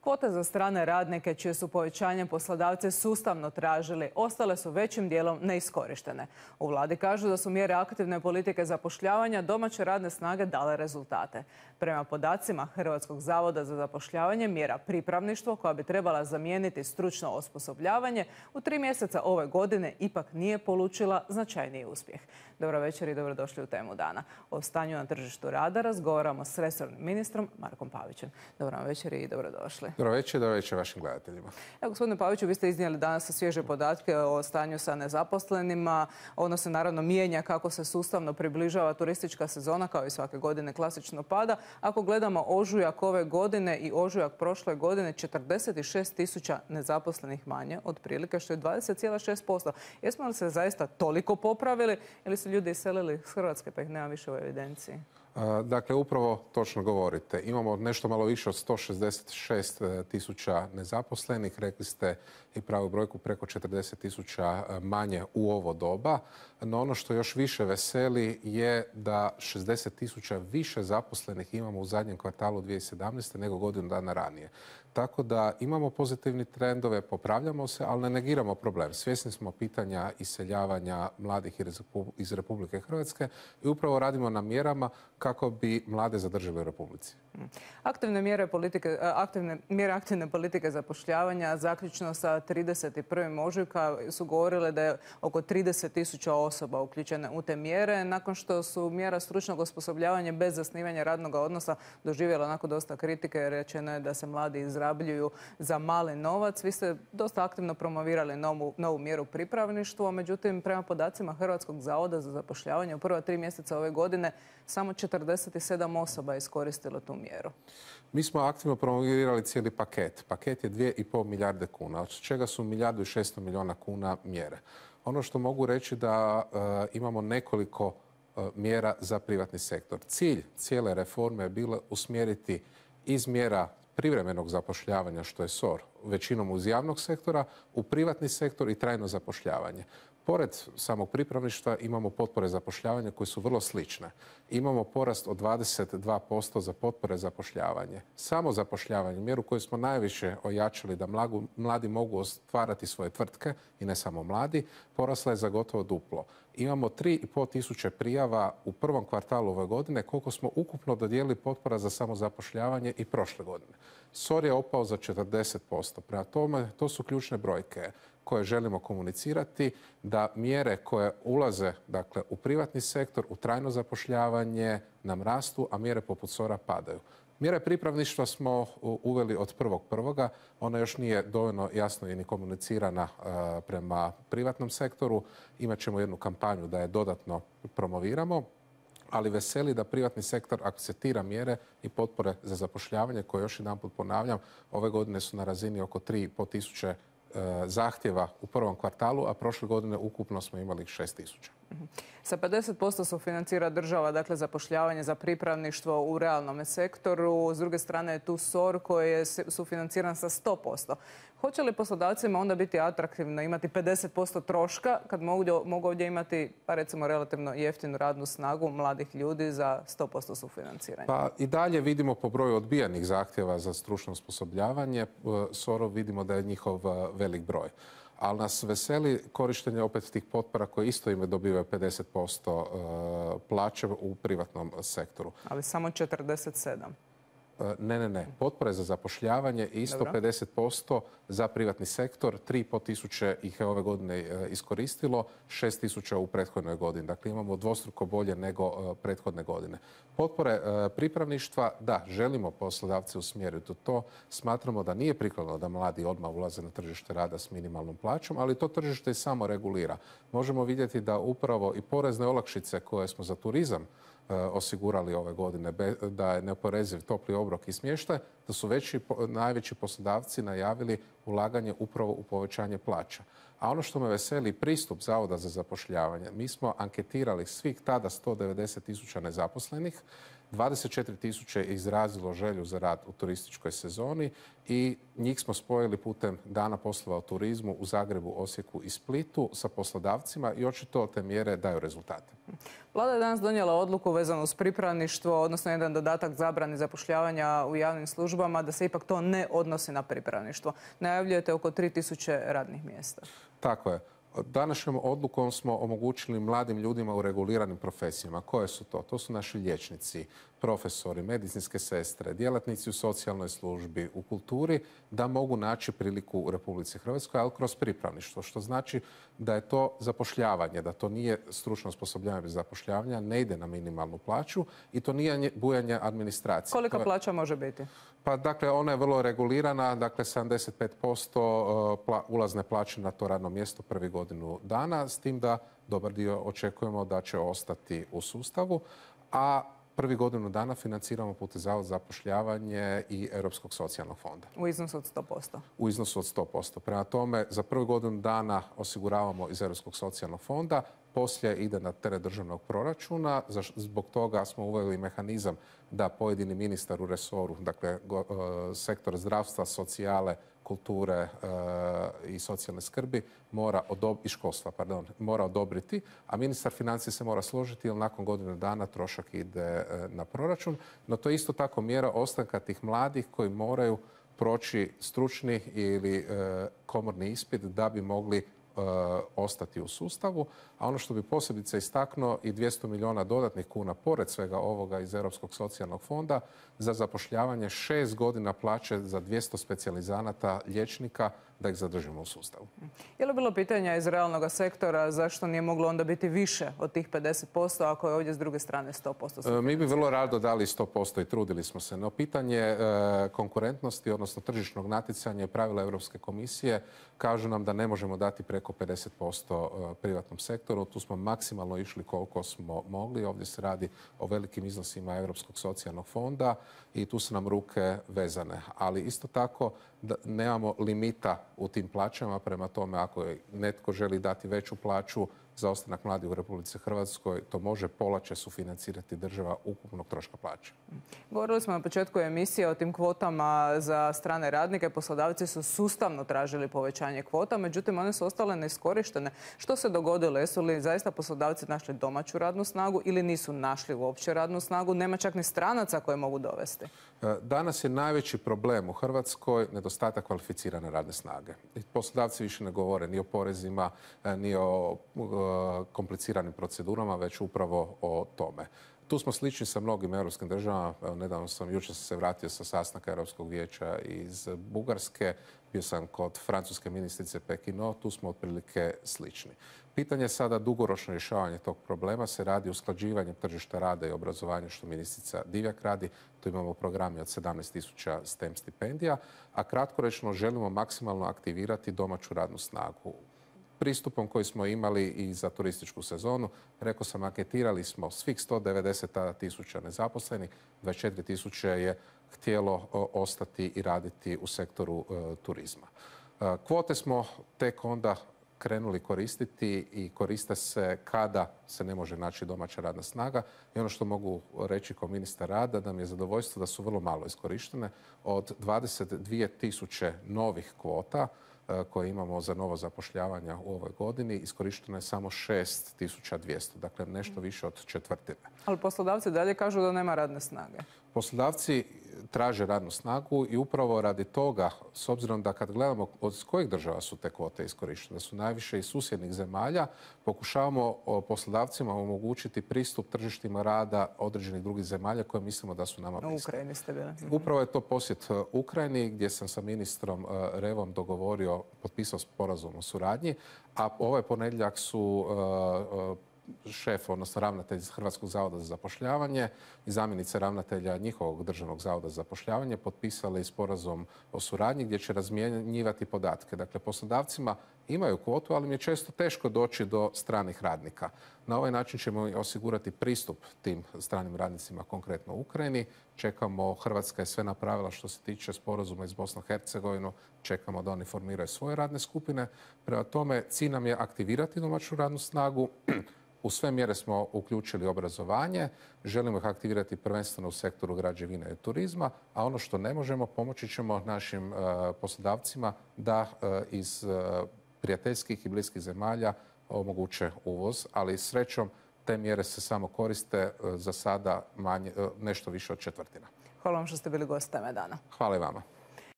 Kvote za strane radnike, čije su povećanje poslodavci sustavno tražili, ostale su većim dijelom neiskorištene. U vladi kažu da su mjere aktivne politike zapošljavanja domaće radne snage dale rezultate. Prema podacima Hrvatskog zavoda za zapošljavanje, mjera pripravništvo, koja bi trebala zamijeniti stručno osposobljavanje, u 3 mjeseca ove godine ipak nije polučila značajniji uspjeh. Dobro večer i dobrodošli u Temu dana. O stanju na tržištu rada razgovaramo s resornim ministrom Markom Pavićem. Dobro večer i dobrodošli. Dobro večer vašim gledateljima. Evo, gospodine Paviću, vi ste iznijeli danas svježe podatke o stanju sa nezaposlenima. Ono se naravno mijenja kako se sustavno približava turistička sezona, kao i svake godine klasično pada. Ako gledamo ožujak ove godine i ožujak prošle godine, 46.000 nezaposlenih manje, otprilike, što je 20,6%. Jesmo li se zaista toliko popravili ili su ljudi iselili iz Hrvatske pa ih nema više u evidenciji? Dakle, upravo točno govorite. Imamo nešto malo više od 166.000 nezaposlenih. Rekli ste i pravu brojku, preko 40.000 manje u ovo doba. No ono što još više veseli je da 60.000 više zaposlenih imamo u zadnjem kvartalu 2017. nego godinu dana ranije. Tako da imamo pozitivni trendove, popravljamo se, ali ne negiramo problem. Svjesni smo pitanja iseljavanja mladih iz Republike Hrvatske i upravo radimo na mjerama kako bi mlade zadržali u Republici. Aktivne mjere aktivne politike zapošljavanja zaključno sa 31. ožujka su govorile da je oko 30.000 osoba uključene u te mjere. Nakon što su mjera stručnog osposobljavanja bez zasnivanja radnog odnosa doživjela onako dosta kritike, rečeno je da se mladi izrabljuju za mali novac. Vi ste dosta aktivno promovirali novu mjeru pripravništvo, međutim prema podacima Hrvatskog zavoda za zapošljavanje u prva 3 mjeseca ove godine samo 47 osoba je iskoristilo tu mjeru. Mi smo aktivno promovirali cijeli paket. Paket je 2,5 milijarde kuna, od čega su 1,6 milijarda kuna mjere. Ono što mogu reći da imamo nekoliko mjera za privatni sektor. Cilj cijele reforme je bilo usmjeriti iz mjera privremenog zapošljavanja, što je SOR, većinom uz javnog sektora, u privatni sektor i trajno zapošljavanje. Pored samog pripravništva imamo potpore zapošljavanja koje su vrlo slične. Imamo porast od 22% za potpore zapošljavanje. Samo zapošljavanje, mjeru koju smo najviše ojačali da mladi mogu ostvarati svoje tvrtke i ne samo mladi, porasla je za gotovo duplo. Imamo 3.500 prijava u prvom kvartalu ove godine, koliko smo ukupno dodijelili potpora za samozapošljavanje i prošle godine. SOR je opao za 40%. Prema tome, to su ključne brojke koje želimo komunicirati, da mjere koje ulaze u privatni sektor, u trajno zapošljavanje nam rastu, a mjere poput SOR-a padaju. Mjere pripravništva smo uveli od 1.1. Ona još nije dovoljno jasno i ni komunicirana prema privatnom sektoru. Imaćemo jednu kampanju da je dodatno promoviramo, ali veseli da privatni sektor akceptira mjere i potpore za zapošljavanje koje, još jedanput ponavljam, ove godine su na razini oko 3.500 zahtjeva u prvom kvartalu, a prošle godine ukupno smo imali 6.000. Sa 50% sufinancira država, dakle zapošljavanje za pripravništvo u realnom sektoru. S druge strane je tu SOR koji je sufinanciran sa 100%. Hoće li poslodavcima onda biti atraktivno imati 50% troška kad mogu ovdje imati, pa recimo, relativno jeftinu radnu snagu mladih ljudi za 100% sufinanciranje? Pa i dalje vidimo po broju odbijanih zahtjeva za stručno osposobljavanje. SOR-ov vidimo da je njihov velik broj. Ali nas veseli korištenje opet tih potpora koje isto ime dobivaju 50% plaće u privatnom sektoru. Ali samo 47%. Ne. Potpore za zapošljavanje isto. Dobro. 50% za privatni sektor. 3.500 ih je ove godine iskoristilo, 6.000 u prethodnoj godini. Dakle, imamo dvostruko bolje nego prethodne godine. Potpore pripravništva, da, želimo poslodavce usmjeriti u to. Smatramo da nije prikladno da mladi odmah ulaze na tržište rada s minimalnom plaćom, ali to tržište i samo regulira. Možemo vidjeti da upravo i porezne olakšice koje smo za turizam osigurali ove godine, da je neoporeziv topli obrok i smještaj, da su najveći poslodavci najavili ulaganje upravo u povećanje plaća. A ono što me veseli, pristup Zavoda za zapošljavanje. Mi smo anketirali svih tada 190.000 nezaposlenih 24.000 je izrazilo želju za rad u turističkoj sezoni i njih smo spojili putem Dana poslova u turizmu u Zagrebu, Osijeku i Splitu sa poslodavcima i očito te mjere daju rezultate. Vlada je danas donijela odluku vezanu uz pripravništvo, odnosno jedan dodatak zabrani zapošljavanja u javnim službama, da se ipak to ne odnosi na pripravništvo. Najavljujete oko 3.000 radnih mjesta. Tako je. Današnjom odlukom smo omogućili mladim ljudima u reguliranim profesijama. Koje su to? To su naši liječnici, profesori, medicinske sestre, djelatnici u socijalnoj službi, u kulturi, da mogu naći priliku u Republici Hrvatskoj, ali kroz pripravništvo, što znači da je to zapošljavanje, da to nije stručno osposobljavanje bez zapošljavanja, ne ide na minimalnu plaću i to nije bujanje administracije. Kolika plaća može biti? Pa dakle, ona je vrlo regulirana, dakle 75% ulazne plaće na to radno mjesto prvi godinu dana, s tim da dobar dio očekujemo da će ostati u sustavu, a prvi godinu dana financiramo putem Zavoda za zapošljavanje i Europskog socijalnog fonda. U iznosu od 100%? U iznosu od 100%. Prema tome, za prvu godinu dana osiguravamo iz Europskog socijalnog fonda, poslije ide na teret državnog proračuna. Zbog toga smo uveli mehanizam da pojedini ministar u resoru, dakle sektor zdravstva, socijale, kulture i socijalne skrbi i školstva, mora odobriti, a ministar financija se mora složiti jer nakon godine dana trošak ide na proračun. No to je isto tako mjera ostanka tih mladih koji moraju proći stručni ili komorni ispit da bi mogli ostati u sustavu, a ono što bi posebice istaknuo i 200 milijuna dodatnih kuna pored svega ovoga iz Europskog socijalnog fonda za zapošljavanje 6 godina plaće za 200 specijalizanata liječnika da ih zadržimo u sustavu. Je li bilo pitanja iz realnog sektora zašto nije moglo onda biti više od tih 50% ako je ovdje s druge strane 100%? Mi bi vrlo rado dali 100% i trudili smo se, no pitanje konkurentnosti, odnosno tržišnog natjecanja i pravila Europske komisije kažu nam da ne možemo dati preko 50% privatnom sektoru. Tu smo maksimalno išli koliko smo mogli. Ovdje se radi o velikim iznosima Europskog socijalnog fonda i tu su nam ruke vezane. Ali isto tako da nemamo limita u tim plaćama, prema tome ako netko želi dati veću plaću za ostanak mladih u Republici Hrvatskoj, to može pola će sufinancirati država ukupnog troška plaće. Govorili smo na početku emisije o tim kvotama za strane radnike. Poslodavci su sustavno tražili povećanje kvota, međutim one su ostale neiskorištene. Što se dogodilo? Jesu li zaista poslodavci našli domaću radnu snagu ili nisu našli uopće radnu snagu? Nema čak ni stranaca koje mogu dovesti. Danas je najveći problem u Hrvatskoj nedostatak kvalificirane radne snage. Poslodavci više ne govore ni o porezima, ni o kompliciranim procedurama, već upravo o tome. Tu smo slični sa mnogim europskim državama. Nedavno jučer sam se vratio sa sastanka Europskog vijeća iz Bugarske. Bio sam kod francuske ministrice Pekino. Tu smo otprilike slični. Pitanje je sada dugoročno rješavanje tog problema. Se radi usklađivanjem tržišta rada i obrazovanja, što ministrica Divjak radi. Tu imamo programi od 17.000 STEM stipendija, a kratkoročno želimo maksimalno aktivirati domaću radnu snagu. Pristupom koji smo imali i za turističku sezonu, rekao sam, anketirali smo svih 190.000 nezaposlenih, 24.000 je htjelo ostati i raditi u sektoru turizma. Kvote smo tek onda krenuli koristiti i koriste se kada se ne može naći domaća radna snaga. I ono što mogu reći kao ministar rada, da mi je zadovoljstvo da su vrlo malo iskorištene. Od 22.000 novih kvota koje imamo za novo zapošljavanja u ovoj godini, iskorišteno je samo 6.200, dakle nešto više od četvrtine. Ali poslodavci dalje kažu da nema radne snage. Poslodavci traže radnu snagu i upravo radi toga, s obzirom da kad gledamo od kojih država su te kvote iskorištene, da su najviše iz susjednih zemalja, pokušavamo poslodavcima omogućiti pristup tržištima rada određenih drugih zemalja koje mislimo da su nama bliske. U Ukrajini ste bili. Upravo je to posjet Ukrajini gdje sam sa ministrom Revom potpisao sporazum o suradnji, a ovaj ponedjeljak su šef, odnosno ravnatelj Hrvatskog zavoda za zapošljavanje i zamjenica ravnatelja njihovog državnog zavoda za zapošljavanje potpisali sporazum o suradnji gdje će razmjenjivati podatke. Dakle, poslodavcima imaju kvotu, ali im je često teško doći do stranih radnika. Na ovaj način ćemo osigurati pristup tim stranim radnicima, konkretno u Ukrajini. Čekamo, Hrvatska je sve napravila što se tiče sporazuma iz Bosne i Hercegovine. Čekamo da oni formiraju svoje radne skupine. Prema tome, cilj nam je aktivirati domaću radnu snagu, U sve mjere smo uključili obrazovanje, želimo ih aktivirati prvenstveno u sektoru građevine i turizma, a ono što ne možemo, pomoći ćemo našim poslodavcima da iz prijateljskih i bliskih zemalja omoguće uvoz, ali srećom te mjere se samo koriste za sada nešto više od četvrtina. Hvala vam što ste bili gost Teme dana. Hvala i vama.